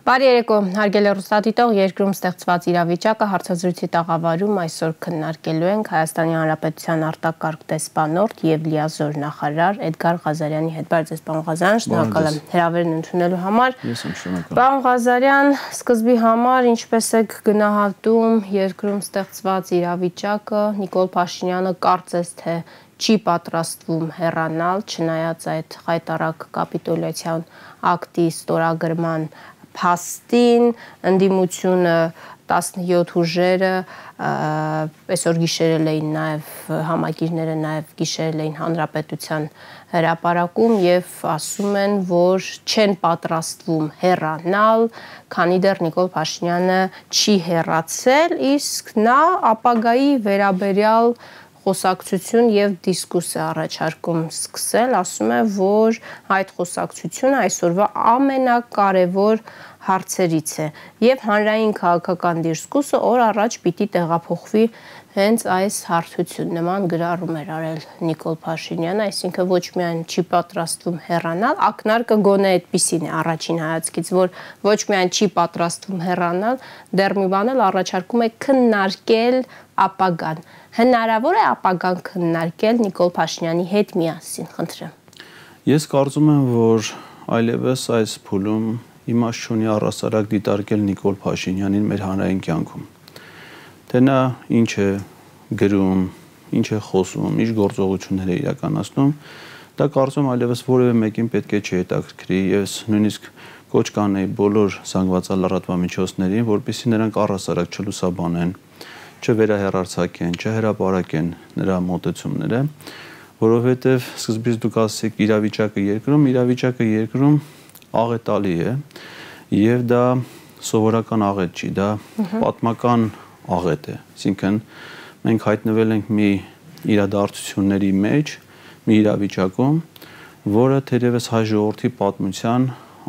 Բարի երեկո, հարգելի ռուսատիտող, երկրում ստեղծված իրավիճակը հարցազրույցի տաղավարում այսօր քննարկելու ենք Հայաստանի Հանրապետության արտակարգ դեսպանորդ եւ լիազոր նախարար Էդգար Ղազարյանի հետ։ Բարև ձեզ, պարոն Ղազարյան, շնորհակալ եմ հրավերն ընդունելու համար։ Ես եմ շնորհակալ։ Պարոն Ղազարյան, սկզբի համար ինչպես եք գնահատում երկրում ստեղծված իրավիճակը, Նիկոլ Փաշինյանը կարծես թե չի պատրաստվում հեռանալ, չնայած այդ խայտառակ կապիտուլյացիան ակտի ստորագրման փաստին, ընդդիմությունը 17 ուժերը այսօր գիշերել էին նաև համագիրները նաև գիշերել էին հանրապետության հրապարակում եւ ասում են, որ չեն պատրաստվում հեռանալ, քանի դեռ Նիկոլ Փաշինյանը չի հեռացել, իսկ նա ապագայի վերաբերյալ խոսակցություն եւ դիսկուս է առաջարկում սկսել, ասում է, որ այդ խոսակցությունը այսօրվա ամենակարևոր հարցերից է եւ հանրային քաղաքական դիսկուսը օր առաջ պիտի տեղափոխվի հենց այս հարթություն նման գրառում էր արել Նիկոլ Փաշինյանը, այսինքն ոչ միայն չի պատրաստվում հեռանալ, ակնարկը գոնե այդպիսին է առաջին հայացքից, որ ոչ միայն չի պատրաստվում հեռանալ, դեռ մի բան էլ առաջարկում է քննարկել ապագան։ Հնարավոր է ապագան քննարկել Նիկոլ Փաշինյանի հետ միասին, խնդրեմ։ Ես կարծում եմ, որ այլևս այս փուլում իմաստ չունի առհասարակ դիտարկել Նիկոլ Փաշինյանին մեր հանրային կյանքում։ Թե նա ինչ է գրում, ինչ է խոսում, ինչ գործողություններ է իրականացնում, դա կարծում այլևս որևէ մեկին պետք է չհետաքրքրի, ես նույնիսկ կոչ կանեի բոլոր զանգվածալրատվամիջոցներին, որպեսզի նրանք առհասարակ չլուսաբանեն, չվերահեռարձակեն, չհրապարակեն նրա մոտեցումները, որովհետև սկզբից դուք ասեցիք իրավիճակը երկրում աղետալի է եւ դա սովորական աղետ չի, դա պատմական աղետ է, այսինքն մենք հայտնվել ենք մի իրադարձությունների մեջ, մի իրավիճակում, որը թերևս հայ ժողովրդի պատմության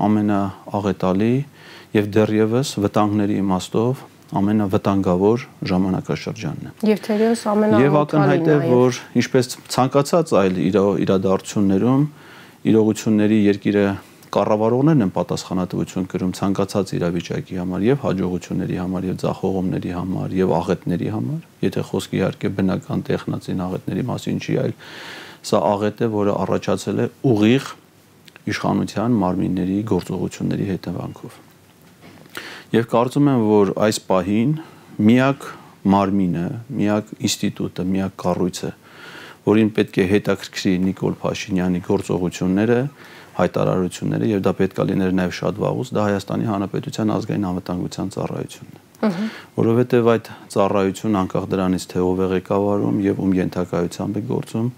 ամենաաղետալի եւ դեռևս վտանգների իմաստով ամենավտանգավոր ժամանակաշրջանն է։ Եվ թերևս ամենաաղետալին եւ ակնհայտ է, որ ինչպես ցանկացած այլ իրադարձություններում իրողությունների երկիրը կառավարողներն են պատասխանատվություն կրում ցանկացած իրավիճակի համար եւ հաջողությունների համար եւ ձախողումների համար եւ աղետների համար, եթե խոսքը իհարկե բնական տեխնացին աղետների մասին չի, այլ սա աղետ է, որը առաջացել է ուղիղ իշխանության մարմինների գործողությունների հետևանքով։ Եվ կարծում եմ, որ այս պահին միակ մարմինը, միակ ինստիտուտը, միակ կառույցը, որին պետք է հետաքրքրի Նիկոլ Փաշինյանի գործողությունները, հայտարարությունները եւ դա պետք է լիներ նաեւ շատ վաղուց, դա Հայաստանի Հանրապետության ազգային անվտանգության ծառայությունն է։ Որովհետեւ այդ ծառայությունը անկախ դրանից թե ով է ղեկավարում եւ ում ենթակայությամբ է գործում,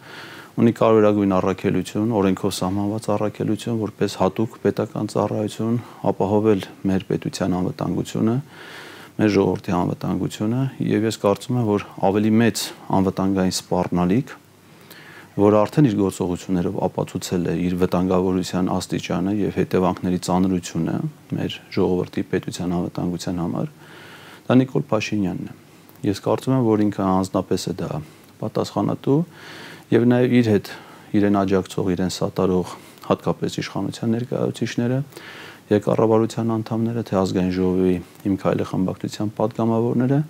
ունի կարևորագույն առաքելություն, օրենքով սահմանված առաքելություն, որպես հատուկ պետական ծառայություն ապահովել մեր պետության անվտանգությունը, մեր ժողովրդի անվտանգությունը եւ ես կարծում եմ, որ ավելի մեծ անվտանգային սպառնալիք, որ արդեն իր գործողություններով ապացուցել է իր վտանգավորության աստիճանը եւ հետևանքների ծանրությունը մեր ժողովրդի պետության անվտանգության համար, դա Նիկոլ Փաշինյանն է։ Ես կարծում եմ, որ ինքը անձնապես է դա պատասխանատու եւ նաեւ իր հետ իրեն աջակցող, իրեն սատարող հատկապես իշխանության ներկայացուցիչները եւ կառավարության անդամները, թե ազգային ժողովի Իմ քայլը խմբակցության падգամավորները,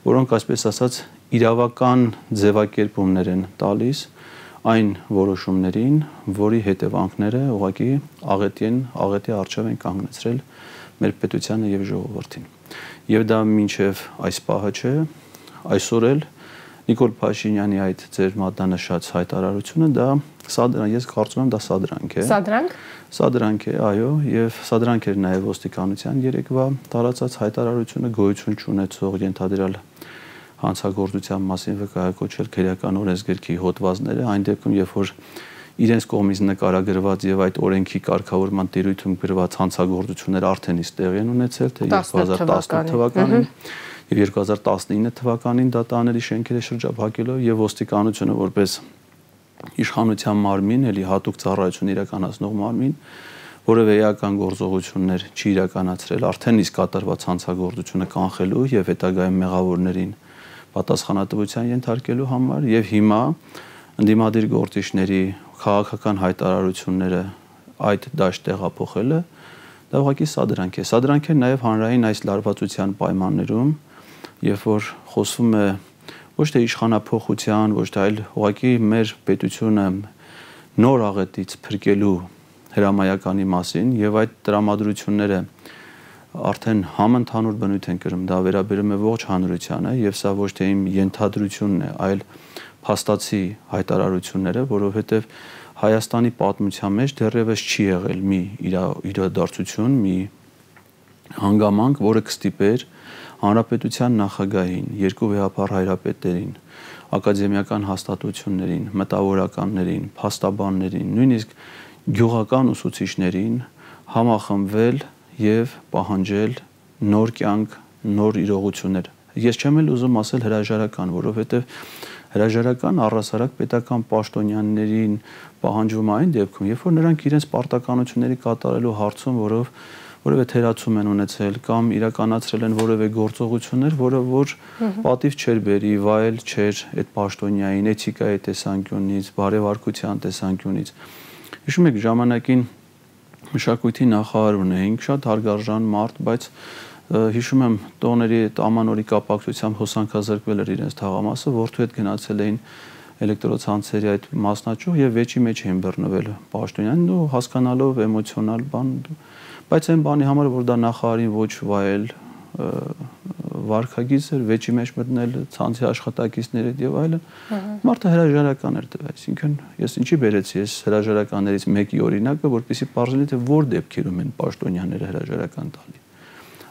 որոնք այսպես ասած իրավական ձևակերպումներ են տալիս այն որոշումներին, որի հետևանքները ուղղակի աղետի առջև են կանգնեցրել մեր պետությանը եւ ժողովրդին։ Եւ դա մինչեւ այս պահը չէ, այսօր էլ Նիկոլ Փաշինյանի այդ ձեր մատնանշած հայտարարությունը դա սադրանք, ես կարծում եմ դա սադրանք է։ Սադրանք։ Սադրանք է, այո, եւ սադրանք էր նաեւ ոստիկանության երեկվա տարածած հայտարարությունը գոյություն չունեցող ենթադրյալ հանցագործության մասին վկայակոչել քրեական օրենսգրքի հոդվածները, այն դեպքում, երբ որ իրենց կողմից նկարագրված եւ այդ օրենքի կարգավորման տիրույթում գրված հանցագործությունները արդեն իսկ տեղի են ունեցել, թե 2018 թվականին եւ 2019 թվականին դատաների շենքերը շրջափակելով եւ ոստիկանությունը որպես իշխանության մարմին, էլի հատուկ ծառայություն իրականացնող մարմին, որևէ էական գործողություններ չի իրականացրել, արդեն իսկ կատարված հանցագործությունը կանխելու եւ հետագայում մեղավորներին պատասխանատվության ենթարկելու համար եւ հիմա ընդդիմադիր գործիչների քաղաքական հայտարարությունները այդ դաշտ տեղափոխելը դա ուղղակի սադրանք է։ Սադրանք է նաև հանրային այս լարվածության պայմաններում, երբ որ խոսվում է ոչ թե իշխանափոխության, ոչ թե այլ ուղղակի մեր պետությունը նոր աղետից փրկելու հրամայականի մասին եւ այդ տրամադրությունները արդեն համընդհանուր բնույթ են կրում, դա վերաբերում է ողջ հանրությանը եւ սա ոչ թե իմ ենթադրությունն է, այլ փաստացի հայտարարությունները, որովհետեւ Հայաստանի պատմության մեջ դեռևս չի եղել մի իրադարձություն, մի հանգամանք, որը կստիպեր հանրապետության նախագահին, երկու վեհապար հայրապետերին, ակադեմիական հաստատություններին, մտավորականներին, փաստաբաններին, նույնիսկ գյուղական ուսուցիչներին համախմբվել եւ պահանջել նոր կյանք, նոր իրողություններ։ Ես չեմ էլ ուզում ասել հրաժարական, որովհետեւ հրաժարական առհասարակ պետական պաշտոնյաներին պահանջվում այն դեպքում, երբ որ նրանք իրենց պարտականությունների կատարելու հարցում, որովհետեւ թերացում են ունեցել կամ իրականացրել են որևէ գործողություններ, որը որ պատիվ չէր բերի, վայել չէր այդ պաշտոնյային էթիկայի տեսանկյունից, բարեվարկության տեսանկյունից։ Հիշում եք ժամանակին մշակույթի նախարար ունեինք, շատ հարգարժան մարդ, բայց հիշում եմ տոների ամանորի կապակցությամբ հոսանքազրկվել էր իրենց թաղամասը, որդու հետ գնացել էին էլեկտրոցանցերի այդ մասնաճյուղ եւ վեճի մեջ էին բռնվել պաշտոնյանին ու հասկանալով էմոցիոնալ բան, բայց այն բանի համար որ դա նախարարին ոչ վայել վարկագիծ էր, վեճի մեջ մտնել ցանցի աշխատակիցների եւ այլն, մարդը հրաժարական էր տվել, այսինքն ես ինչի բերեցի ես հրաժարականներից մեկի օրինակը, որպեսզի բարձրացնի թե որ դեպքերում են պաշտոնյաները հրաժարական տալի։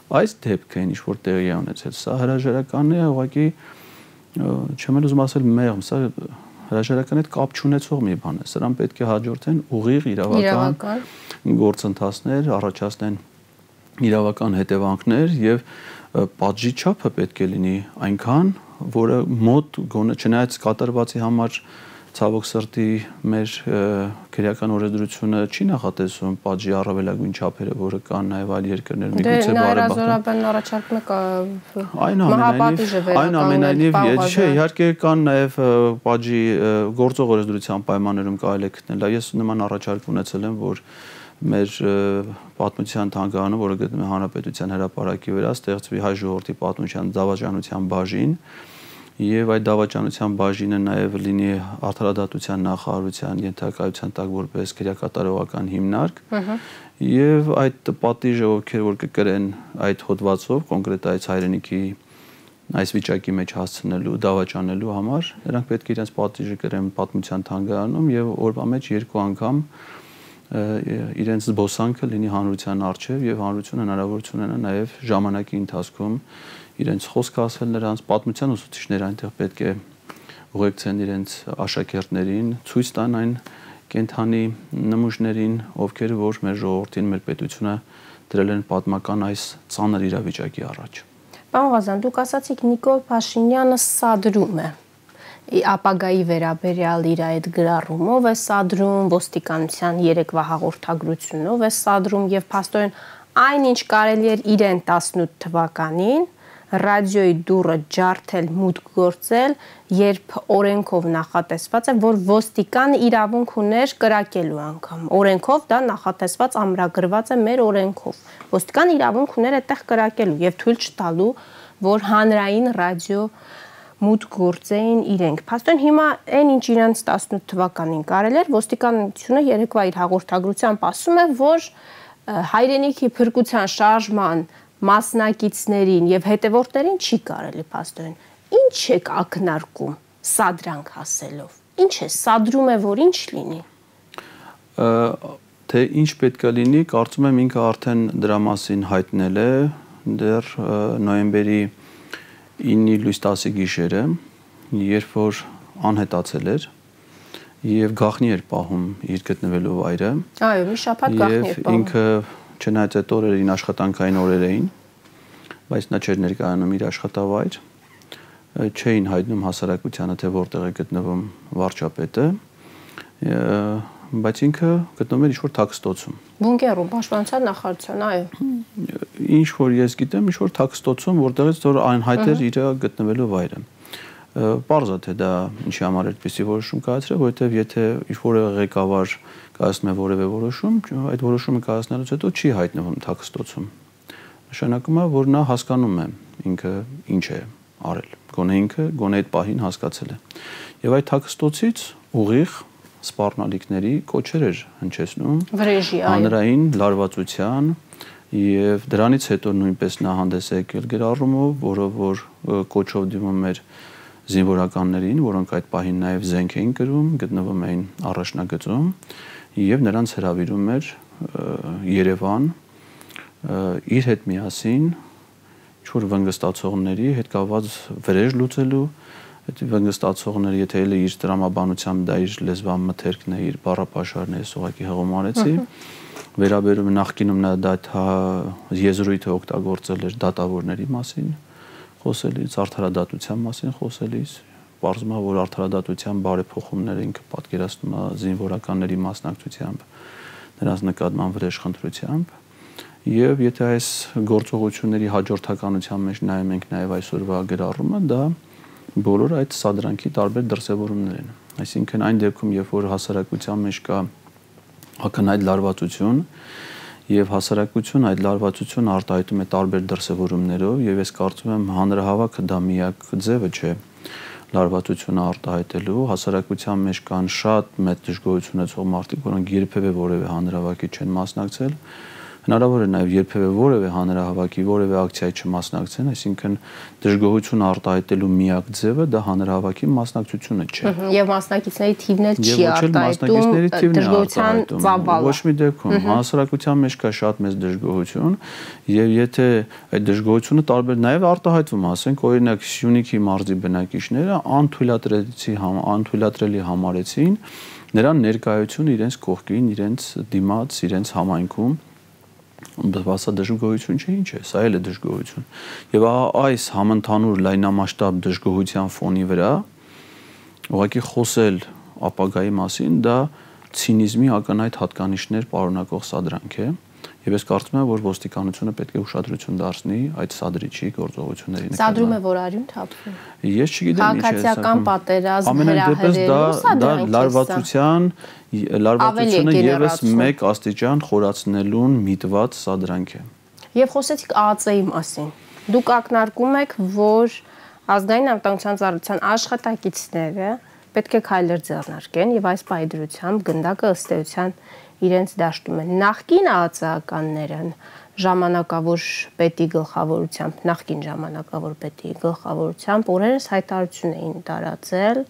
Այս դեպքը ինչ որ տեղի է ունեցել, սա հրաժարականն է, ուղղակի չեմ ուզում ասել մեղմ, սա հրաժարականի հետ կապ չունեցող մի բան է։ Սրան պետք է հաջորդեն ուղիղ իրավական գործընթացներ, առաջացնեն իրավական հետևանքներ եւ պատժի չափը պետք է լինի այնքան, որը մոտ գոնե չնայած կատարվածի համար ցավոք սրտի մեր քրեական օրենսդրությունը չի նախատեսում պատժի առավելագույն չափերը, որը կան նաև այլ երկրներում, միգուցե բարեբախտաբար առաջարկում է մահապատիժը վերականգնել։ Այնուամենայնիվ, չէ, իհարկե կան նաև պատժի գործող օրենսդրության պայմաններում կարելի է գտնել։ Ես նման առաջարկ ունեցել եմ, որ մեր պատմության թանգարանում, որը գտնվում է Հանրապետության հրապարակի վրա, ստեղծվի հայ ժողովրդի պատմության դավաճանության բաժին, եւ այդ դավաճանության բաժինը նաեւ լինի արդարադատության նախարարության ենթակայության տակ որպես քրեակատարողական հիմնարկ եւ այդ պատիժը ովքեր որ կկրեն այդ հոդվածով կոնկրետ այս հայրենիքի այս վիճակի մեջ հասցնելու դավաճանելու համար նրանք պետք է իրենց պատիժը կրեն պատմության թանգարանում եւ օրվա մեջ երկու անգամ իրենց զբոսանքը լինի հանրության առջև եւ հանրությունը հնարավորություն ունենա նաեւ ժամանակի ընթացքում իրենց խոսքը ասել նրանց պատմության ուսուցիչները այնտեղ պետք է ուղեկցեն իրենց աշակերտներին, ցույց տան այն կենթանի նմուշներին, ովքեր որ մեր ժողովրդին, մեր պետությունը դրել են պատմական այս ծանր իրավիճակի առաջ։ Պարոն Ղազարյան, դուք ասացիք Նիկոլ Փաշինյանը սադրում է ապագայի վերաբերյալ իր այդ գրառումով է սադրում, ոստիկանության երեկվա հաղորդագրությունով է սադրում եւ փաստորեն այնինչ կարելի էր իրեն 18 թվականին ռադիոյի դուռը ջարդել, մուտք գործել, երբ օրենքով նախատեսված է, որ ոստիկան իրավունք ուներ կրակելու անգամ։ Օրենքով դա նախատեսված ամրագրված է մեր օրենքով։ Ոստիկան իրավունք ուներ այդտեղ կրակելու եւ թույլ չտալու, որ հանրային ռադիո մուտք գործեին իրենք։ Փաստորեն հիմա այն ինչ իրանց 18 թվականին կարել էր, ոստիկանությունը երեկվա իր հաղորդագրությամբ ասում է, որ հայրենիքի փրկության շարժման մասնակիցներին եւ հետևորդներին չի կարելի փաստորեն։ Ինչ եք ակնարկում սադրանք ասելով։ Ինչ է սադրում է, որ ինչ լինի։ Թե ինչ պետք է լինի, կարծում եմ ինքը արդեն դրա մասին հայտնել է դեռ նոյեմբերի 9-ի լույս 10-ի գիշերը, երբ որ անհետացել էր եւ գաղտնի էր պահում իր գտնվելու վայրը։ Այո, մի շաբաթ գաղտնի էր պահում։ Ինքը չնայած այդ օրերին աշխատանքային օրեր էին, բայց նա չէր ներկայանում իր աշխատավայր, չէին հայտնում հասարակությանը, թե որտեղ է գտնվում վարչապետը, բայց ինքը գտնվում էր ինչ-որ թաքստոցում։ Բունկերում, պաշտպանության նախարարության, այո։ Ինչ որ ես գիտեմ, ինչ որ թաքստոցում, որտեղից որ անհայտ էր իր գտնվելու վայրը։ Պարզ է թե դա ինչի համար այդպեսի որոշում կայացրել, որովհետև եթե ինչ-որ ղեկավար կայացնում է որևէ որոշում, այդ որոշումը կայացնելուց հետո չի հայտնվում թաքստոցում։ Նշանակում է, որ նա հասկանում է ինքը ինչ է արել, գոնե այդ պահին հասկացել է։ Եվ այդ թաքստոցից ուղիղ սպառնալիքների կոչեր էր հնչեցնում հանրային լարվածության, եւ դրանից հետո նույնպես նա հանդես է եկել գրառումով, որով որ կոչով դիմում էր զինվորականներին, որոնք այդ պահին նաև զենք էին կրում, գտնվում էին առաջնագծում եւ նրանց հրավիրում էր Երևան իր հետ միասին ինչ-որ վնգստացողների հետ կապված վրեժ լուծելու, այդ վնգստացողները եթե էլ իր տրամաբանությամբ դա իր լեզվան մթերքն է, իր բառապաշարն է, ուղղակի հղումարեցի, վերաբերում նախկինում նա դա եզրույթը օգտագործել էր դատավորների մասին խոսելիս, արդարադատության մասին խոսելիս, պարզվում է, որ արդարադատության բարեփոխումները ինքը պատկերացնում է զինվորականների մասնակցությամբ, նրանց նկատմամբ վրեժխնդրությամբ, եւ եթե այս գործողությունների հաջորդականության մեջ նայում ենք նաեւ այսօրվա գրառումը, դա բոլոր այդ սադրանքի տարբեր դրսևորումներ են։ Այսինքն այն դեպքում, երբ որ հասարակության մեջ կա ակնհայտ լարվածություն եւ հասարակություն այդ լարվածությունը արտահայտում է տարբեր դրսևորումներով եւ ես կարծում եմ հանրահավաքը դա միակ ձևը չէ լարվածությունը արտահայտելու հասարակության մեջ կան շատ մեծ դժգոհություն ունեցող մարդիկ, որոնք երբևէ որևէ հանրահավաքի չեն մասնակցել, հնարավոր է նաև երբևէ որևէ հանրահավաքի, որևէ ակցիայի չմասնակցեն, այսինքն դժգոհություն արտահայտելու միակ ձևը դա հանրահավաքի մասնակցությունը չէ։ Եվ մասնակիցների թիվն էլ չի արտահայտում դժգոհության ծավալը։ Ոչ մի դեպքում հասարակության մեջ կա շատ մեծ դժգոհություն, եւ եթե այդ դժգոհությունը տարբեր նաև արտահայտվում, ասենք օրինակ Սյունիքի մարզի բնակիչները անթույլատրելի համարեցին նրան ներկայություն իրենց կողքին, իրենց դիմաց, իրենց համայնքում բացա դժգոհություն չէ, ինչ է, սա էլ է դժգոհություն։ Եվ այս համընդհանուր լայնամասշտաբ դժգոհության ֆոնի վրա ուղղակի խոսել ապագայի մասին դա ցինիզմի ակնհայտ հատկանիշներ պարունակող սադրանք է։ Եվ ես կարծում եմ, որ ոստիկանությունը պետք է ուշադրություն դարձնի այդ սադրիչի գործողությունների նկատմամբ։ Սադրում է, որ արյուն թափվում։ Ես չգիտեմ ինչ է քաղաքացիական պատերազմ լարվածությունը եւս մեկ աստիճան խորացնելուն միտված սադրանք է։ Եվ խոսեցիք ԱԱԾ-ի մասին։ Դուք ակնարկում եք, որ ազգային անվտանգության ծառայության աշխատակիցները պետք է քայլեր ձեռնարկեն եւ այս պայդրությամբ գնդակը ըստ էության իրենց դաշտում են։ Նախկին ԱԱԾ-ականները ժամանակավոր պետի գլխավորությամբ, նախկին ժամանակավոր պետի գլխավորությամբ օրերս հայտարարություն էին տարածել,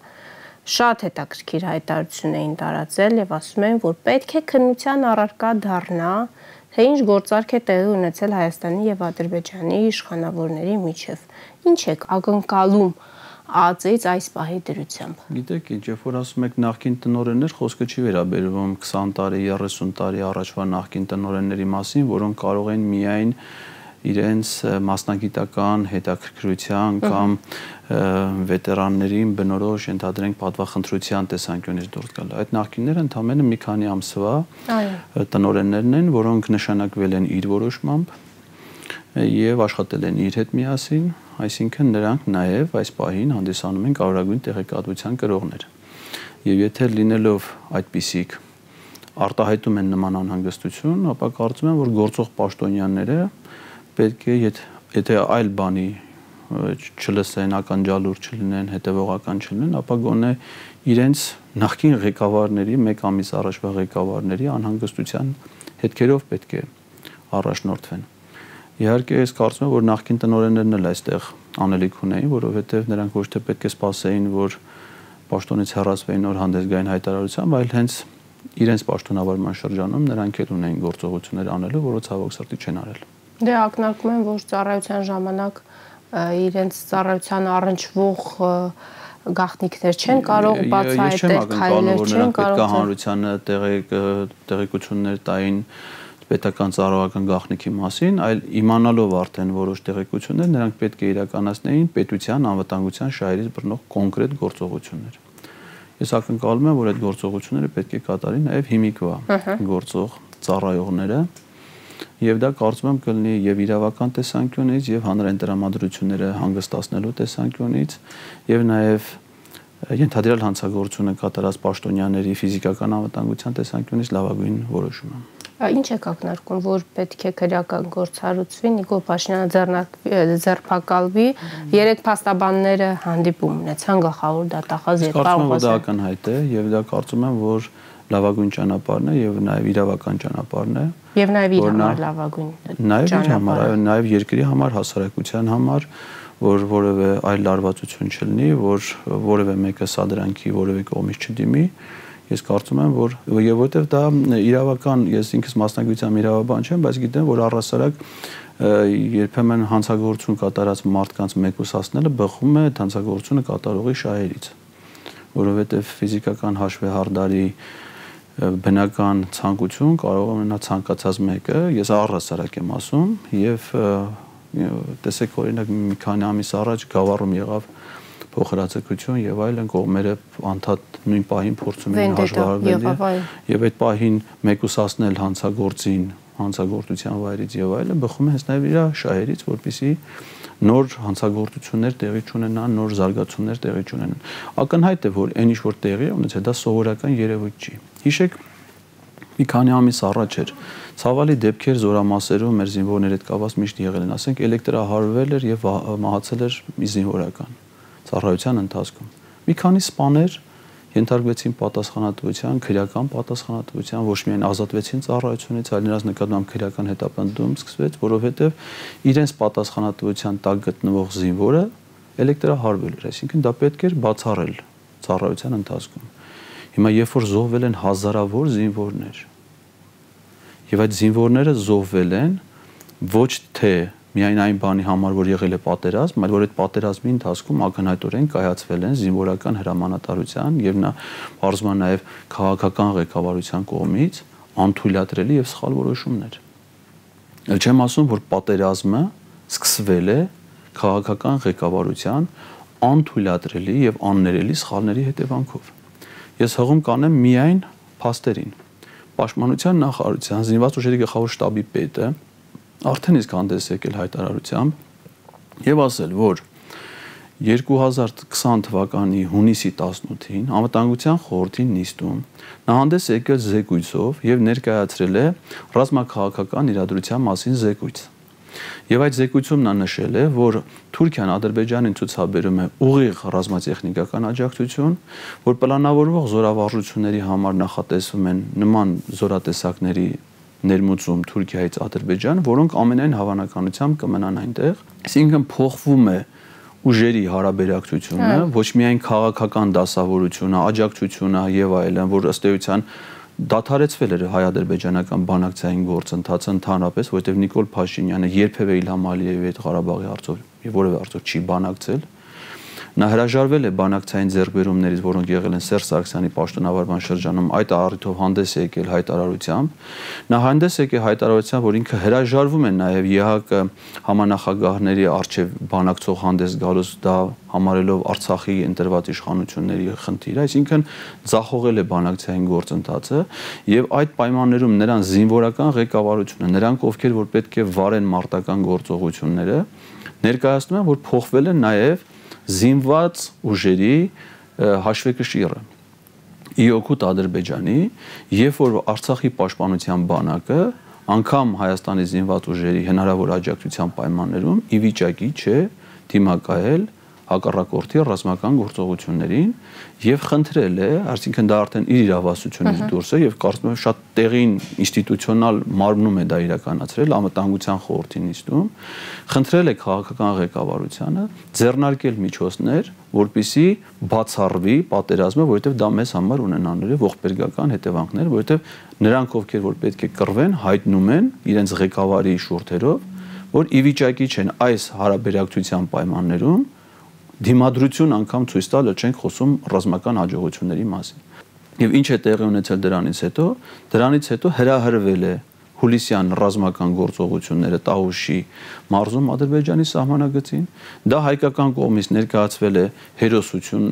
շատ հետաքրքիր հայտարարություն էին տարածել եւ ասում են, որ պետք է քննության առարկա դառնա, թե ինչ գործարք է տեղի ունեցել Հայաստանի եւ Ադրբեջանի իշխանավորների միջև։ Ինչ եք ակնկալում ԱԱԾ-ից այս պահի դրությամբ։ Գիտեք, ինչ երբ որ ասում եք նախկին տնօրեններ, խոսքը չի վերաբերվում 20 տարի, 30 տարի առաջվա նախկին տնօրենների մասին, որոնք կարող են միայն իրենց մասնագիտական հետաքրքրության կամ վետերաններին բնորոշ ընդհանրենք պատվախնդրության տեսանկյունից դուրս գալ։ Այդ նախկինները ընդամենը մի քանի ամսվա տնօրեններն են, որոնք նշանակվել են իր որոշմամբ եւ աշխատել են իր հետ միասին, այսինքն նրանք նաեւ այս պահին հանդիսանում են կարևորագույն տեղեկատվության կրողներ։ Եվ եթե լինելով այդպիսիք արտահայտում են նման անհանգստություն, ապա կարծում եմ, որ գործող պաշտոնյաները պետք է եթե այլ բանի չլսեն, ականջալուր չլինեն, հետևողական չլինեն, ապա գոնե իրենց նախկին ղեկավարների, մեկ ամիս առաջվա ղեկավարների անհանգստության հետքերով պետք է առաջնորդվեն։ Իհարկե, ես կարծում եմ, որ նախկին տնօրեններն էլ այստեղ անելիք ունեին, որովհետև նրանք ոչ թե պետք է սպասեին, որ պաշտոնից հեռացվեին նոր հանդես գային հայտարարությամբ, այլ հենց իրենց պաշտոնավարման շրջանում նրանք էլ ունեին գործողություններ անելու, որը ցավոք սրտի չեն արել։ Դե ակնարկում են, որ ծառայության ժամանակ իրենց ծառայության առնչվող գաղտնիքներ չեն կարող բացահայտել, քայլեր չեն կարող։ Պետք է հանրությանը տեղեկություններ տային պետական ծառայական գաղտնիքի մասին, այլ իմանալով արդեն որոշ տեղեկություններ, նրանք պետք է իրականացնեին պետության անվտանգության շահերից բռնող կոնկրետ գործողություններ։ Ես ակնկալում եմ, որ այդ գործողությունները պետք է կատարի նաև հիմիկվա գործող ծառայողները, եւ դա կարծում եմ կլինի եւ իրավական տեսանկյունից եւ հանրային տրամադրությունները հանգստացնելու տեսանկյունից եւ նաեւ ենթադրյալ հանցագործությունը կատարած պաշտոնյաների ֆիզիկական անվտանգության տեսանկյունից լավագույն որոշումը։ Ինչ եք ակնարկում, որ պետք է քրեական գործառույցվի, Նիկոլ Փաշինյանը ձերբակալվի, 3 փաստաբանները հանդիպում ունեցան գլխավոր դատախազ հետ Կարծում եմ, որ դա ակնհայտ է եւ դա կարծում եմ, որ լավագույն ճանապարհն է եւ նաեւ իրավական ճանապարհն է։ Եվ նաեւ իր համար լավագույն ճանապարհ, նաեւ երկրի համար, հասարակության համար, որ որևէ այլ լարվածություն չլինի, որ որևէ մեկը սադրանքի որևէ կողմից չդիմի։ Ես կարծում եմ, որ եւ որովհետեւ դա իրավական, ես ինքս մասնագիտությամբ իրավաբան չեմ, բայց գիտեմ, որ առհասարակ երբեմն հանցագործություն կատարած մարդկանց մեկուսացնելը բխում է հանցագործությունը կատարողի շահերից, որովհետեւ ֆիզիկական հաշվեհարդարի բնական ցանկություն կարող է ունենալ ցանկացած մեկը, ես առհասարակ եմ ասում, եւ տեսեք օրինակ մի քանի ամիս առաջ Գավառում եղավ փոխհրաձգություն եւ այլն, կողմերը անդադ նույն պահին փորձում էին հաշվարկել եւ այդ պահին մեկուսացնել հանցագործին հանցագործության վայրից եւ այլն բխում է հենց նաեւ իր շահերից, որպեսզի նոր հանցագործություններ տեղի չունենան, նոր զարգացումներ տեղի չունենան։ Ակնհայտ է, որ այն ինչ որ տեղի է ունեցել, դա սովորական երևույթ չի։ Հիշեք, մի քանի ամիս առաջ էր ցավալի դեպքեր զորամասերում մեր զինվորների հետ կապված միշտ եղել են, ասենք էլեկտրահարվել էր եւ մահացել էր մի զինվորական ծառայության ընթացքում։ Մի քանի սպաներ ենթարկվեցին պատասխանատվության, քրեական պատասխանատվության, ոչ միայն ազատվեցին ծառայությունից, այլ նրանց նկատմամբ քրեական հետապնդում սկսվեց, որովհետև իրենց պատասխանատվության տակ գտնվող զինվորը էլեկտրահարվել էր, այսինքն դա պետք էր բացառել ծառայության ընթացքում։ Հիմա երբ որ զոհվել են հազարավոր զինվորներ, եւ այդ զինվորները զոհվել են ոչ թե միայն այն բանի համար, որ եղել է պատերազմ, այլ որ այդ պատերազմի ընթացքում ակնհայտորեն կայացվել են զինվորական հրամանատարության եւ նա բարձրացման նաեւ քաղաքական ղեկավարության կողմից անթույլատրելի եւ սխալ որոշումներ։ Ել չեմ ասում, որ պատերազմը սկսվել է քաղաքական ղեկավարության անթույլատրելի եւ աններելի սխալների հետևանքով։ Ես հղում կանեմ միայն փաստերին։ Պաշտպանության նախարարության զինված ուժերի գլխավոր շտաբի պետը արդեն իսկ հանդես եկել հայտարարությամբ եւ ասել, որ 2020 թվականի հունիսի 18-ին անվտանգության խորհրդի նիստում նա հանդես եկել զեկույցով եւ ներկայացրել է ռազմաքաղաքական իրադրության մասին զեկույց։ Եվ այդ զեկույցում նա նշել է, որ Թուրքիան Ադրբեջանին ցուցաբերում է ուղիղ ռազմատեխնիկական աջակցություն, որ պլանավորվող զորավարժությունների համար նախատեսվում են նման զորատեսակների ներմուծում Թուրքիայից Ադրբեջան, որոնք ամենայն հավանականությամբ կմնան այնտեղ։ Այսինքն փոխվում է ուժերի հարաբերակցությունը, ոչ միայն քաղաքական դասավորությունը, աջակցությունը եւ այլն, որ ըստ էության դադարեցվել էր հայ-ադրբեջանական բանակցային գործընթացը ընդհանրապես, որովհետեւ Նիկոլ Փաշինյանը երբևէ Իլհամ Ալիևի հետ Ղարաբաղի հարցով եւ որևէ հարցով չի բանակցել։ Նա հրաժարվել է բանակցային ձեռքբերումներից, որոնք եղել են Սերժ Սարգսյանի պաշտոնավարման շրջանում, այդ առիթով հանդես է եկել հայտարարությամբ։ Նա հանդես եկել հայտարարությամբ, որ ինքը հրաժարվում է նաև ԵՀԿ համանախագահների արչև բանակցող հանդես գալուց, դա համարելով Արցախի ընտրված իշխանությունների խնդիր, այսինքն ձախողել է բանակցային գործընթացը եւ այդ պայմաններում նրան զինվորական ղեկավարությունը, նրանք ովքեր որ պետք է վարեն մարտական գործողությունները, ներկայացնում են, որ փոխվել է նաև զինված ուժերի հաշվեկշիռը ի օգուտ Ադրբեջանի, երբ որ Արցախի պաշտպանության բանակը անգամ Հայաստանի զինված ուժերի հնարավոր աջակցության պայմաններում ի վիճակի չէ դիմակայել հակառակորդի ռազմական գործողություններին եւ խնդրել է, այսինքն դա արդեն իր իրավասությունից դուրս է եւ կարծում եմ շատ տեղին ինստիտուցիոնալ մարմնում է դա իրականացրել անվտանգության խորհրդի նիստում, խնդրել է քաղաքական ղեկավարությանը ձեռնարկել միջոցներ, որպիսի բացառվի պատերազմը, որովհետեւ դա մեզ համար ունենալու է ողբերգական հետևանքներ, որովհետեւ նրանք ովքեր որ պետք է կռվեն, հայտնում են իրենց ղեկավարի շուրթերով, որ ի վիճակի չեն այս հարաբերակցության պայմաններում դիմադրություն անգամ ցույց տալ, չենք խոսում ռազմական հաջողությունների մասին։ Եվ ինչ է տեղի ունեցել դրանից հետո? Դրանից հետո հրահրվել է հուլիսյան ռազմական գործողությունները Տավուշի մարզում Ադրբեջանի սահմանագծին։ Դա հայկական կողմից ներկայացվել է հերոսություն,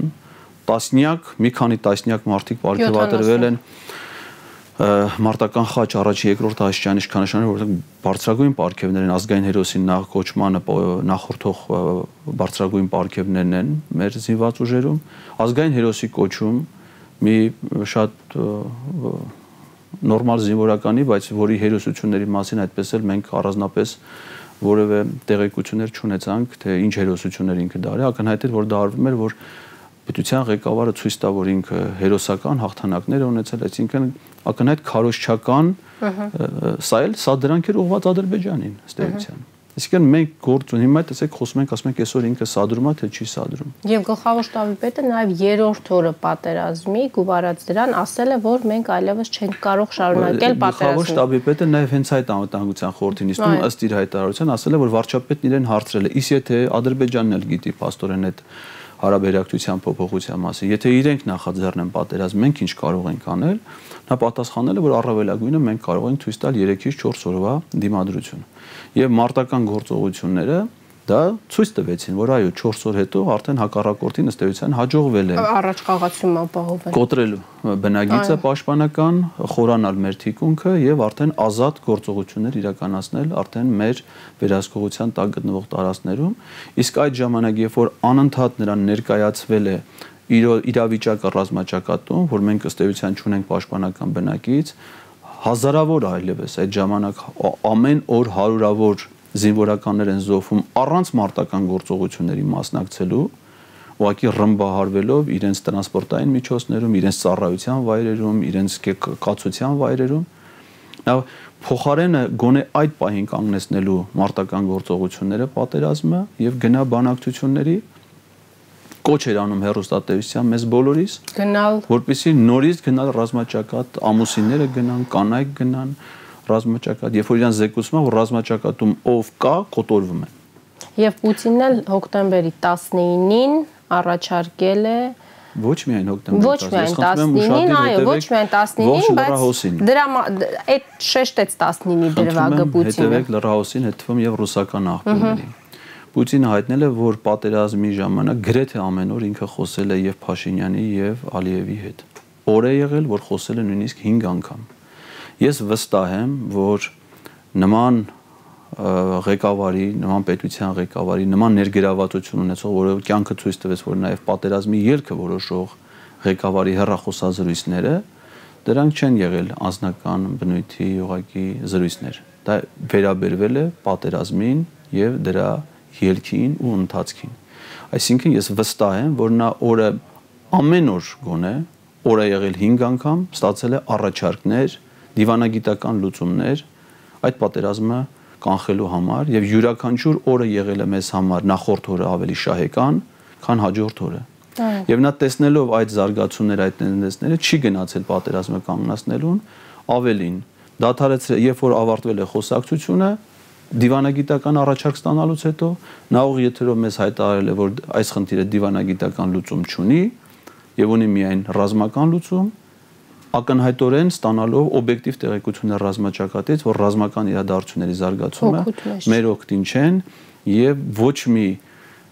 մի քանի տասնյակ մարդիկ պարգևատրվել են։ մարտական խաչ առաջի երկրորդ աստիճանի իշխանաշարժը, որտեղ բարձրագույն պարգևներն ազգային հերոսի կոչմանը նախորդող բարձրագույն պարգևներն են մեր զինված ուժերում, ազգային հերոսի կոչում մի շատ նորմալ զինվորականի, բայց որի հերոսությունների մասին այդպես էլ մենք առանձնապես որևէ տեղեկություններ չունեցանք, թե ինչ հերոսություններ ինքը դարի, ակնհայտ էր, որ դա արվում էր, որ պետության ղեկավարը ցույց տա, որ ինքը հերոսական հաղթանակներ է ունեցել, այսինքն ակնհայտ քարոզչական սա դրանք էր ուղղված Ադրբեջանին ըստ էության։ Այսինքն մենք գործ ունենք, հիմա տեսեք խոսում ենք, ասում ենք այսօր ինքը սադրում է, թե չի սադրում։ Եվ գլխավոր շտաբի պետը նաև երրորդ օրը պատերազմի գուվարած դրան ասել է, որ մենք այլևս չենք կարող շարունակել պատերազմը։ Գլխավոր շտաբի պետը նաև հենց այդ անվտանգության խորհրդի նիստում ըստ իր հայտարարության ասել է, որ վարչապետն իրեն հարցրել է, իսկ եթե Ադրբեջանն էլ գիտի փաստորեն այդ հարաբերակցության փոփոխության մասին, եթե իրենք նախաձեռնեն պատերազմ, մենք ինչ կարող ենք անել, նա պատասխանել է, որ առավելագույնը մենք կարող ենք ցույց տալ 3-ից 4 օրվա դիմադրություն։ Եվ մարտական գործողությունները դա ցույց տվեցին, որ այո 4 օր հետո արդեն հակառակորդին ըստ էության հաջողվել է առաջ խաղացում ապահովել, կոտրել բնագիծը պաշտպանական, խորանալ մեր թիկունքը եւ արդեն ազատ գործողություններ իրականացնել արդեն մեր վերահսկողության տակ գտնվող տարածքներում, իսկ այդ ժամանակ երբ որ անընդհատ նրան ներկայացվել է իրավիճակը ռազմաճակատում, որ մենք ըստ էության չունենք պաշտպանական բնակից, հազարավոր այլևս այդ ժամանակ ամեն օր հարյուրավոր զինվորականներ են զոհվում առանց մարտական գործողությունների մասնակցելու, ուղղակի ռմբահարվելով իրենց տրանսպորտային միջոցներում, իրենց ծառայության վայրերում, իրենց կացության վայրերում։ Նա փոխարենը գոնե այդ պահին կանգնեցնելու մարտական գործողությունները պատերազմը եւ գնա բանակցությունների կոչ էր անում հեռուստատեսության մեզ բոլորիս գնալ, որպեսզի նորից գնալ ռազմաճակատ, ամուսինները գնան, կանայք գնան ռազմաճակատ, երբ որ իրան զեկուցում է, որ ռազմաճակատում ով կա, կոտորվում է։ Եվ Պուտինն էլ հոկտեմբերի 19-ին առաջարկել է ոչ միայն հոկտեմբերի 19-ին, այո, ոչ միայն 19-ին, բայց դրա այդ շեշտեց 19-ի դրվագը Պուտինը։ Հետևեք լրահոսին, հետ թվում եւ ռուսական աղբյուրներին։ Պուտինը հայտնել է, որ պատերազմի ժամանակ գրեթե ամեն օր ինքը խոսել է եւ Փաշինյանի եւ Ալիևի հետ։ Օր է եղել, որ խոսել է նույնիսկ 5 անգամ։ Ես վստահ եմ, որ նման ղեկավարի, նման պետության ղեկավարի, նման ներգրավվածություն ունեցող, որը կյանքը ցույց տվեց, որ նաև պատերազմի ելքը որոշող ղեկավարի հեռախոսազրույցները, դրանք չեն եղել անձնական բնույթի ուղղակի զրույցներ։ Դա վերաբերվել է պատերազմին եւ դրա ելքին ու ընթացքին։ Այսինքն ես վստահ եմ, որ նա օրը ամեն օր գոնե օրը եղել 5 անգամ ստացել է առաջարկներ, դիվանագիտական լուծումներ այդ պատերազմը կանխելու համար եւ յուրաքանչյուր օրը եղել է մեզ համար նախորդ օրը ավելի շահեկան, քան հաջորդ օրը։ Եվ նա տեսնելով այդ զարգացումները, այդ տենդենսները չի գնացել պատերազմը կանգնացնելուն, ավելին դադարեցրել, երբ որ ավարտվել է խոսակցությունը, դիվանագիտական առաջարկ ստանալուց հետո նա ուղղ եթերով մեզ հայտարարել է, որ այս խնդիրը դիվանագիտական լուծում չունի եւ ունի միայն ռազմական լուծում, ակնհայտորեն ստանալով օբյեկտիվ տեղեկություններ ռազմաճակատից, որ ռազմական իրադարձությունների զարգացումը մեր օգտին չեն եւ ոչ մի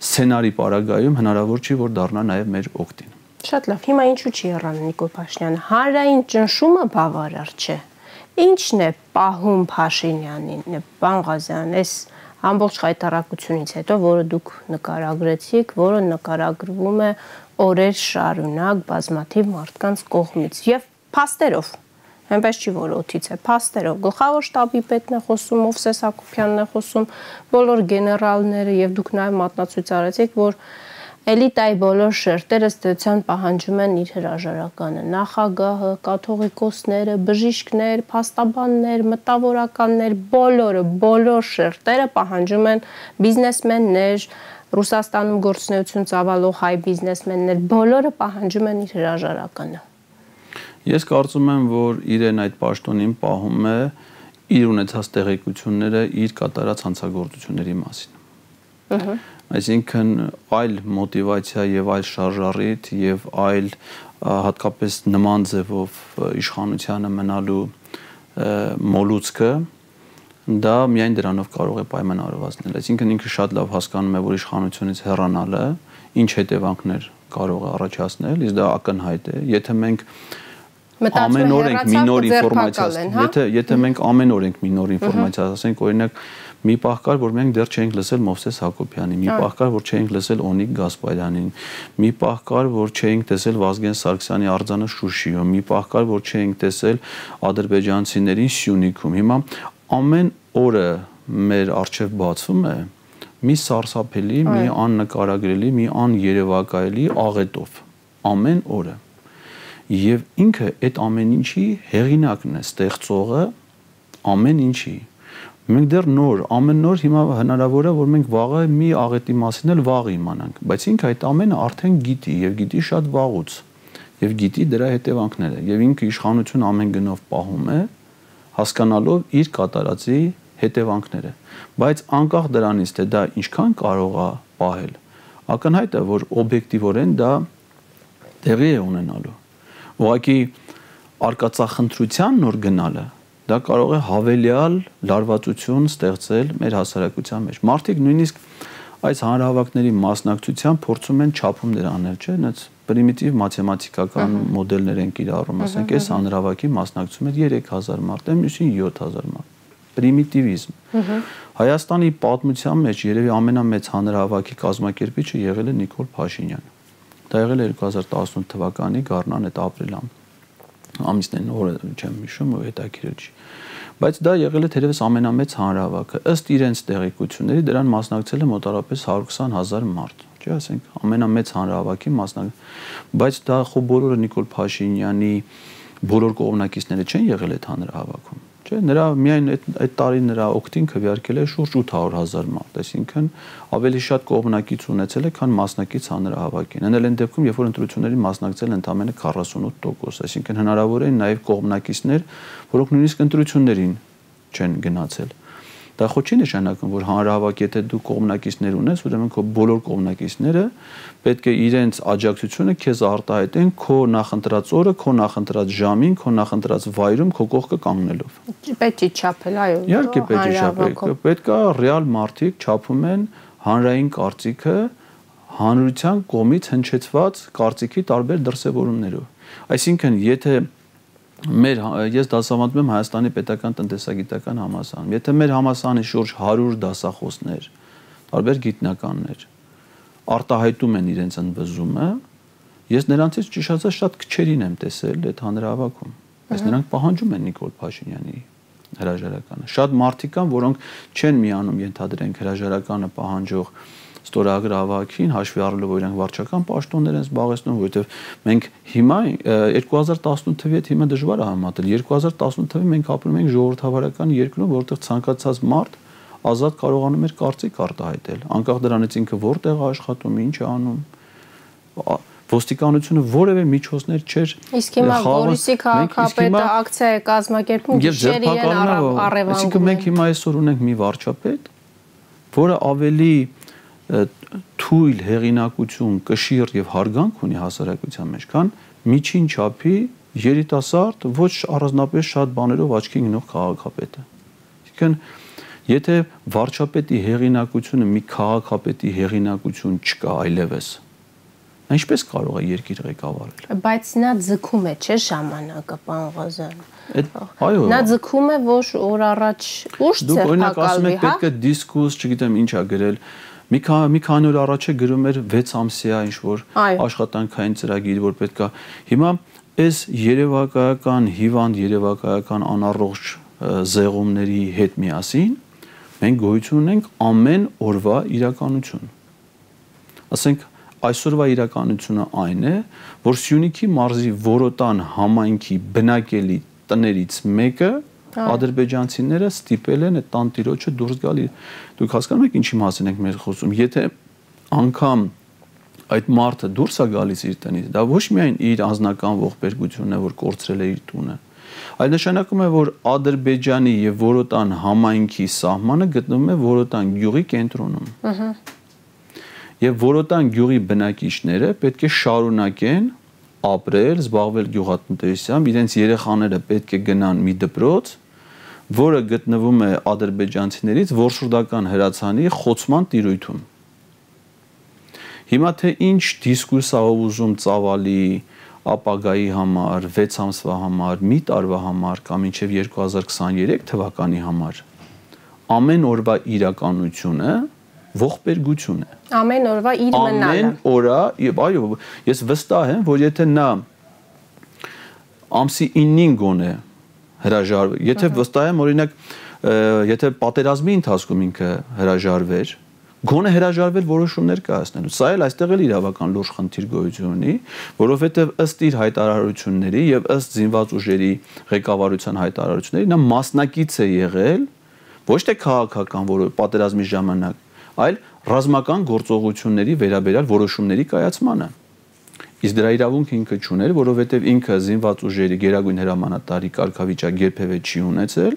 սցենարի պարագայում հնարավոր չի, որ դառնա նաեւ մեր օգտին։ Շատ լավ, հիմա ինչու չի եռան Նիկոլ Փաշինյանը, հանրային ճնշումը բավարար չէ։ Ինչն է պահում Փաշինյանին, պարոն Ղազարյան, այս ամբողջ հայտարարությունից հետո, որը դուք նկարագրեցիք, որը նկարագրվում է օրեր շարունակ բազմաթիվ մարդկանց կողմից եւ փաստերով, այնպես չի, որ օթից է, փաստերով, գլխավոր շտաբի պետն է խոսում, Մովսես Հակոբյանն է խոսում, բոլոր գեներալները եւ դուք նաեւ մատնացույց արեցիք, որ էլիտայի բոլոր շերտերը ստեցան պահանջում են իր հրաժարականը, նախագահը, կաթողիկոսները, բժիշկներ, փաստաբաններ, մտավորականներ, բոլոր շերտերը պահանջում են բիզնեսմեններ, Ռուսաստանում գործունեություն ծավալող հայ բիզնեսմեններ, բոլորը պահանջում են իր հրաժարականը։ Ես կարծում եմ, որ իրեն այդ պաշտոնին պահում է իր ունեցած տեղեկությունները իր կատարած հանցագործությունների մասին։ Այսինքն այլ մոտիվացիա եւ այլ շարժառիթ եւ այլ հատկապես նման ձևով իշխանությանը մնալու մոլուցքը դա միայն դրանով կարող է պայմանավորվածնել։ Այսինքն ինքը շատ լավ հասկանում է, որ իշխանությունից հեռանալը ինչ հետևանքներ կարող է առաջացնել, իսկ դա ակնհայտ է։ Եթե մենք ամեն օր ենք մի նոր ինֆորմացիա, եթե մենք ամեն օր ենք մի նոր ինֆորմացիա, ասենք օրինակ մի պահ կար, որ մենք դեռ չէինք լսել Մովսես Հակոբյանին, մի պահ կար, որ չէինք լսել Օնիկ Գասպարյանին, մի պահ կար, որ չէինք տեսել Վազգեն Սարգսյանի արձանը Շուշիում, մի պահ կար, որ չէինք տեսել ադրբեջանցիներին Սյունիքում։ Հիմա ամեն օրը մեր առջև բացվում է մի սարսափելի, մի աննկարագրելի, մի աներևակայելի աղետով ամեն օրը։ Եվ ինքը այդ ամեն ինչի հեղինակն է, ստեղծողը ամեն ինչի։ Մենք դեռ ամեն նոր հիմա հնարավոր է, որ մենք վաղը մի աղետի մասին էլ վաղ իմանանք, բայց ինքը այդ ամենը արդեն գիտի եւ գիտի շատ վաղուց եւ գիտի դրա հետևանքները եւ ինքը իշխանություն ամեն գնով պահում է, հասկանալով իր կատարածի հետևանքները, բայց անկախ դրանից թե դա ինչքան կարող է պահել, ակնհայտ է, որ օբյեկտիվորեն դա տեղի է ունենալու։ Ուղղակի արկածախնդրության նոր գնալը դա կարող է հավելյալ լարվածություն ստեղծել մեր հասարակության մեջ։ Մարդիկ նույնիսկ այս հանրահավաքների մասնակցության փորձում են չափումներ անել, չէ՞, այնց պրիմիտիվ մաթեմատիկական մոդելներ են կիրառում, ասենք, այս հանրահավաքի մասնակցում էր 3000 մարդ, մյուսին 7000 մարդ։ Պրիմիտիվիզմ։ Հայաստանի պատմության մեջ երևի ամենամեծ հանրահավաքի կազմակերպիչը եղել է Նիկոլ Փաշինյանը։ Դա եղել է 2018 թվականի գարնան այդ ապրիլյան ամիսներին, օրը չեմ հիշում, հետաքրքիր չի։ Բայց դա եղել է թերևս ամենամեծ հանրահավաքը։ Ըստ իրենց տեղեկությունների դրան մասնակցել է մոտավորապես 120,000 մարդ, չէ՞, ասենք, ամենամեծ հանրահավաքի բայց դա խո բոլորը Նիկոլ Փաշինյանի բոլոր կողմնակիցները չեն եղել այդ հանրահավաքում, չէ՞։ Նրա միայն այդ տարի նրա օգտին քվեարկել է շուրջ 800,000 մարդ, այսինքն ավելի շատ կողմնակից ունեցել է, քան մասնակից հանրահավաքին։ Այն էլ այն դեպքում, երբ որ ընտրություններին մասնակցել ընդամենը 48%, այսինքն հնարավոր են նաև կողմնակիցներ, որոնք նույնիսկ ընտրություններին չեն գնացել։ Դա ხო չի նշանակում, որ հանրահավաք, եթե դու կողմնակիցներ ունես, ուրեմն քո բոլոր կողմնակիցները պետք է իրենց աջակցությունը քեզ արտահայտեն քո նախընտրած օրը, քո նախընտրած ժամին, քո նախընտրած վայրում, քո կողքը կանգնելով։ Պետք է չափել, այո։ Իհարկե պետք է չափել։ Պետք է ռեալ մարդիկ չափում են հանրային կարծիքը հանրության կողմից հնչեցված կարծիքի տարբեր դրսևորումներով։ Այսինքն, եթե ես դասավանդում եմ Հայաստանի պետական տնտեսագիտական համալսարանում։ Եթե մեր համալսարանի շուրջ 100 դասախոսներ, տարբեր գիտնականներ արտահայտում են իրենց ընդվզումը, ես նրանցից ճիշտ ասած շատ քչերին եմ տեսել այդ հանրահավաքում։ Բայց նրանք պահանջում են Նիկոլ Փաշինյանի հրաժարականը։ Շատ մարդիկ կան, որոնք չեն միանում, ենթադրենք, հրաժարականը պահանջող ստորագրավակին, հաշվի առնելով, որ իրանք վարչական պաշտոններ են զբաղեցնում, որովհետև մենք հիմա 2018 թվի հետ հիմա դժվար է համատել։ 2018 թվին մենք ապրում ենք ժողովրդավարական երկրում, որտեղ ցանկացած մարդ ազատ կարողանում էր կարծիք արտահայտել, անկախ դրանից ինքը որտեղ է աշխատում, ինչ է անում։ Ոստիկանությունը որևէ միջոցներ չէր։ Իսկ հիմա Գորիսի քաղաքապետը ակցիա է կազմակերպում, գիշեր իրեն առևանգում։ Այսինքն մենք հիմա այսօր ունենք մի վարչապետ, որը ավելի թույլ հեղինակություն, կշիռ եւ հարգանք ունի հասարակության մեջ, քան միջին չափի երիտասարդ, ոչ առանձնապես շատ բաներով աչքի ընկնող քաղաքապետը։ Այսինքն, եթե վարչապետի հեղինակությունը մի քաղաքապետի հեղինակություն չկա այլևս, ինչպես կարող է երկիր ղեկավարել։ Բայց նա ձգում է, չէ՞, ժամանակը, պարոն Ղազարյան։ Այո։ Նա ձգում է, որ օր առաջ ուշ ձերբակալվի, հա։ Պետք է դիսկուրս, չգիտեմ ինչ է գրել։ Մի քանի օր առաջ է գրում էր 6 ամսյա ինչ-որ աշխատանքային ծրագիր, որ պետք է։ Հիմա այս երևակայական հիվանդ, երևակայական անառողջ զեղումների հետ միասին մենք գոյություն ունենք ամեն օրվա իրականություն։ Ասենք այսօրվա իրականությունը այն է, որ Սյունիքի մարզի Որոտան համայնքի բնակելի տներից մեկը ադրբեջանցիները ստիպել են այդ տանտիրոջը դուրս գալ։ Դուք հասկանում եք ինչի մասին ենք մեր խոսում։ Եթե անգամ այդ մարդը դուրս է գալիս իր տնից, դա ոչ միայն իր անձնական ողբերգությունն է, որ կորցրել է իր տունը, այլ նշանակում է, որ Ադրբեջանի եւ Որոտան համայնքի սահմանը գտնվում է Որոտան գյուղի կենտրոնում։ Եվ Որոտան գյուղի բնակիչները պետք է շարունակեն ապրել, զբաղվել գյուղատնտեսությամբ, իրենց երեխաները պետք է գնան մի դպրոց, որը գտնվում է ադրբեջանցիներից որսորդական հրացանի խոցման տիրույթում։ Հիմա թե ինչ դիսկուրս ա ուզում ծավալի ապագայի համար, 6 ամսվա համար, մի տարվա համար կամ մինչև 2023 թվականի համար ամեն օրվա իրականությունը ողբերգություն է։ Ամեն օրվա իր մնալը։ Ամեն օրա, եւ այո, ես վստահ եմ, որ եթե նա ամսի 9-ին գոնե հրաժարվի, եթե վստահ եմ, օրինակ, եթե պատերազմի ընթացքում ինքը հրաժարվեր, գոնե հրաժարվել որոշումներ կայացնելու։ Սա էլ այստեղ էլ իրավական լուրջ խնդիր գոյություն ունի, որովհետև ըստ իր հայտարարությունների եւ ըստ զինված ուժերի ղեկավարության հայտարարությունների նա մասնակից է եղել ոչ թե քաղաքական պատերազմի ժամանակ, այլ ռազմական գործողությունների վերաբերյալ որոշումների կայացմանը։ Իսկ դրա իրավունք ինքը չուներ, որովհետև ինքը զինված ուժերի գերագույն հրամանատարի կարգավիճակ երբևէ չի ունեցել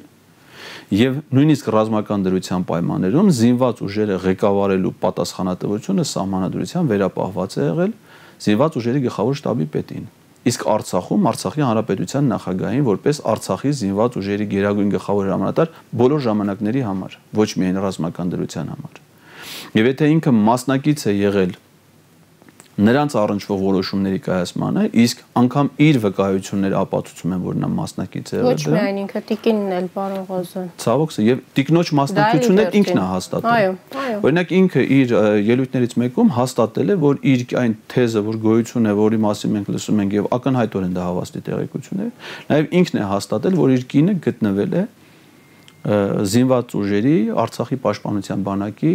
եւ նույնիսկ ռազմական դրության պայմաններում զինված ուժերը ղեկավարելու պատասխանատվությունը սահմանադրության վերապահված է եղել զինված ուժերի գլխավոր շտաբի պետին։ Իսկ Արցախում Արցախի հանրապետության նախագահային որպես Արցախի զինված ուժերի գերագույն գլխավոր հրամանատար բոլոր ժամանակների համար, ոչ միայն ռազմական դրության համար։ Եվ եթե ինքը մասնակից է եղել նրանց առնչվող որոշումների կայացմանը, իսկ անգամ իր վկայությունները ապացուցում են, որ նա մասնակից է եղել։ Ոչ միայն ինքը տիկինն էլ պարոն Ղազարյան։ Ցավոք, եւ տիկնոջ մասնակցությունն ինքն է հաստատել։ Այո։ Օրինակ ինքը իր ելույթներից մեկում հաստատել է, որ իր այն թեզը, որ գոյություն է, որի մասին մենք լսում ենք եւ ակնհայտորեն դա հավաստի տեղեկություն է, նաեւ ինքն է հաստատել, որ իր կինը գտնվել է զինված ուժերի Արցախի պաշտպանության բանակի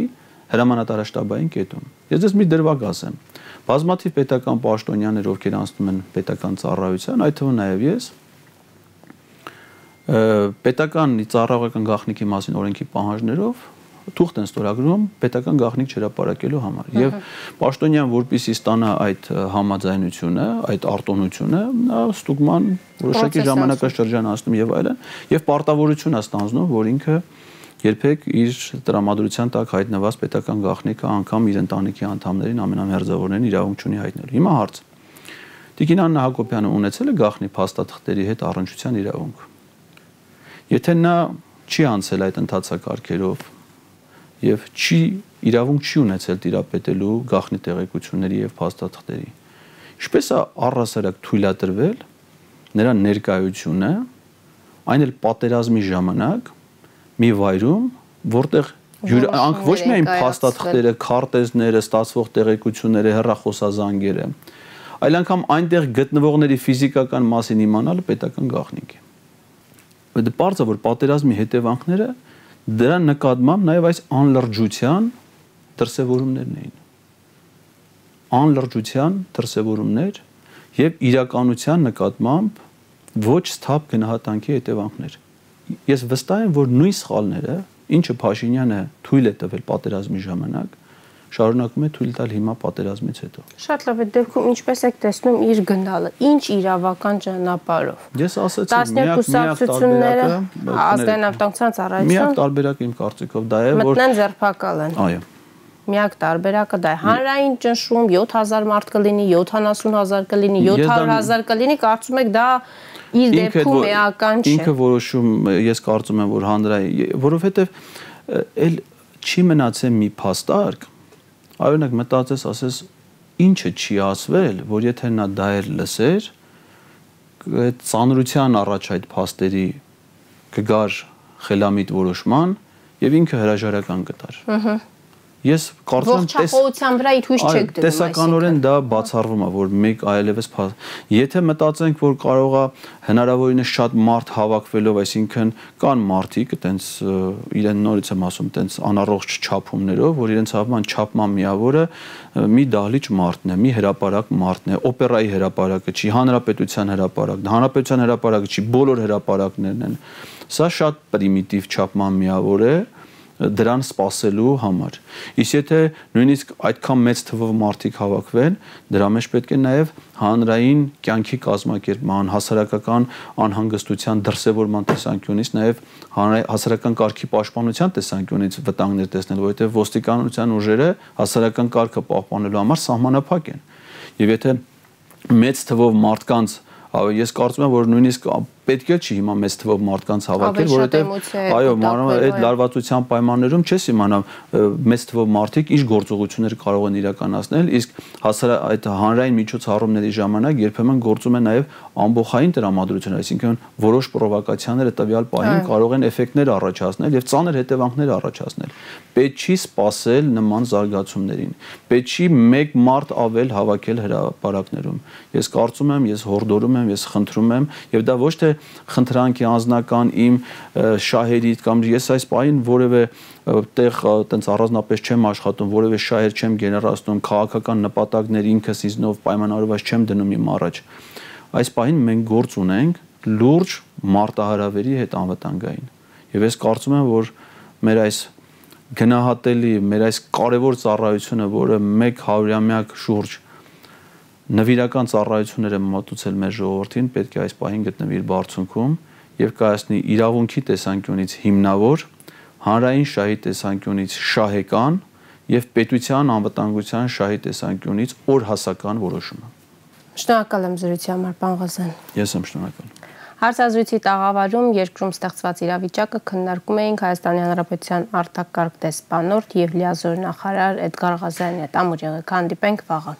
հրամանատարաշտաբային կետում։ Ես դες մի դրվագ ասեմ։ Բազմաթիվ պետական պաշտոնյաներ, ովքեր անցնում են պետական ծառայության, այդ թվում նաև ես, պետական ծառայողական գաղտնիքի մասին օրենքի պահանջներով թուղթ են ստորագրում պետական գաղտնիք չհրապարակելու համար։ Եվ պաշտոնյան, որպեսզի ստանա այդ համաձայնությունը, այդ արտոնությունը, նա ստուգման որոշակի ժամանակաշրջան անցնում եւ այլն, եւ պարտավորություն է ստանձնում, որ ինքը երբեք իր տրամադրության տակ հայտնված պետական գաղտնիքը անգամ իր ընտանիքի անդամներին ամենամերձավորներին իրավունք չունի հայտնելու։ Հիմա հարց. Տիկին Աննա Հակոբյանը ունեցել է գաղտնի փաստաթղթերի հետ առնչության իրավունք։ Եթե նա չի անցել այդ ընթացակարգերով եւ իրավունք չի ունեցել տիրապետելու գաղտնի տեղեկությունների եւ փաստաթղթերի, ինչպես է առհասարակ թույլատրվել նրա ներկայությունը, այն էլ պատերազմի ժամանակ մի վայրում, որտեղ ոչ միայն փաստաթղթերը, քարտեզները, ստացվող տեղեկությունները, հեռախոսազանգերը, այլ անգամ այնտեղ գտնվողների ֆիզիկական մասին իմանալը պետական գաղտնիք է։ Դա բարձր որ պատերազմի հետևանքները դրա նկատմամբ նաև այս անլրջության դրսևորումներն էին։ Անլրջության դրսևորումներ եւ իրականության նկատմամբ ոչ սթափ գնահատանքի հետևանքներ։ Ես վստահ եմ, որ նույն սխալները, ինչը Փաշինյանը թույլ է տվել պատերազմի ժամանակ, շարունակում է թույլ տալ հիմա պատերազմից հետո։ Շատ լավ է, դեպքում ինչպես եք տեսնում իր գնալը, ինչ իրավական ճանապարհով։ Ես ասացի, ազգային անվտանգության ծառայությունը միակ տարբերակը իմ կարծիքով դա է, որ մտնեն ձերբակալեն։ Այո։ Միակ տարբերակը դա է։ Հանրային ճնշում 7000 մարդ կլինի, 70000 կլինի, 700000 կլինի, կարծում եք դա իր դեպքում էական չէ։ Ինքը որոշում, ես կարծում եմ, որ հանրային, որովհետև էլ չի մնացել մի փաստարկ, այօնակ մտածես, ասես ինչը չի ասվել, որ եթե նա դա էր լսեր, այդ ծանրության առաջ այդ փաստերի կգար խելամիտ որոշման եւ ինքը հրաժարական կտար։ Ես կարծում եմ ողջախոհության վրա իր հույս չեք դնում, տեսականորեն դա բացառվում է, որ մեկ այլևս եթե մտածենք, որ կարող է հնարավորինս շատ մարդ հավաքվելով, այսինքն կան մարդիկ, այտենց իրեն նորից եմ ասում, այտենց անառողջ չափումներով, որ իրենց հավման չափման միավորը մի դահլիճ մարդն է, մի հրապարակ մարդն է, օպերայի հրապարակը չի, հանրապետության հրապարակն է, հանրապետության հրապարակը չի, բոլոր հրապարակներն են։ Սա շատ պրիմիտիվ չափման միավոր է դրան սпасելու համար։ Իսկ եթե նույնիսկ այդքան մեծ թվով մարդիկ հավաքվեն, դրա մեջ պետք է նաև հանրային կյանքի կազմակերպման, հասարակական անհանգստության դրսևորման տեսանկյունից, նաև հասարակական կարգի պաշտպանության տեսանկյունից վտանգներ տեսնել, որովհետև ոստիկանության ուժերը հասարակական կարգը պահպանելու համար սահմանափակ են։ Եվ եթե մեծ թվով մարդկանց ես կարծում եմ, որ նույնիսկ պետք է չի հիմա մեծ թվով մարդկանց հավաքել, որովհետև այո, այդ լարվածության պայմաններում չես իմանա մեծ թվով մարդիկ ինչ գործողություններ կարող են իրականացնել, իսկ այդ հանրային միջոցառումների ժամանակ երբեմն գործում է նաև ամբողջային տրամադրություն, այսինքն որոշ պրովոկացիաները տվյալ պահին կարող են էֆեկտներ առաջացնել եւ ծանր հետևանքներ առաջացնել։ Պետք չի սпасել նման զարգացումներին։ Պետք չի մեկ մարդ ավել հավաքել հրապարակներում։ Ես կարծում եմ, ես հորդորում եմ, ես խնդրում եմ եւ դա ոչ թե խնդրանքի անձնական իմ շահերի կամ ես այս պահին որևէ տեղ տենց առանձնապես չեմ աշխատում, որևէ շահեր չեմ գեներացնում, քաղաքական նպատակներ ինքս ինձնով պայմանավորված չեմ դնում իմ առաջ։ Այս պահին մենք գործ ունենք լուրջ մարտահրավերի հետ անվտանգային։ Եվ ես կարծում եմ, որ մեր այս գնահատելի, մեր այս կարևոր ծառայությունը, որը 100-ամյակ շուրջ նվիրական ծառայություններ է մատուցել մեր ժողովրդին, պետք է այս պահին գտնվի իր բարձունքում եւ կայացնի իրավունքի տեսանկյունից հիմնավոր, հանրային շահի տեսանկյունից շահեկան եւ պետության անվտանգության շահի տեսանկյունից օրհասական որոշումը։ Շնորհակալ եմ զրույցի համար, պարոն Ղազարյան։ Ես եմ շնորհակալ։ Հարցազրույցի տաղավարում երկրում ստեղծված իրավիճակը քննարկում էինք Հայաստանի Հանրապետության արտակարգ դեսպանորդ եւ լիազոր նախարար Էդգար Ղազարյանի հետ։ Ամուր եղեք, հանդիպենք վաղը։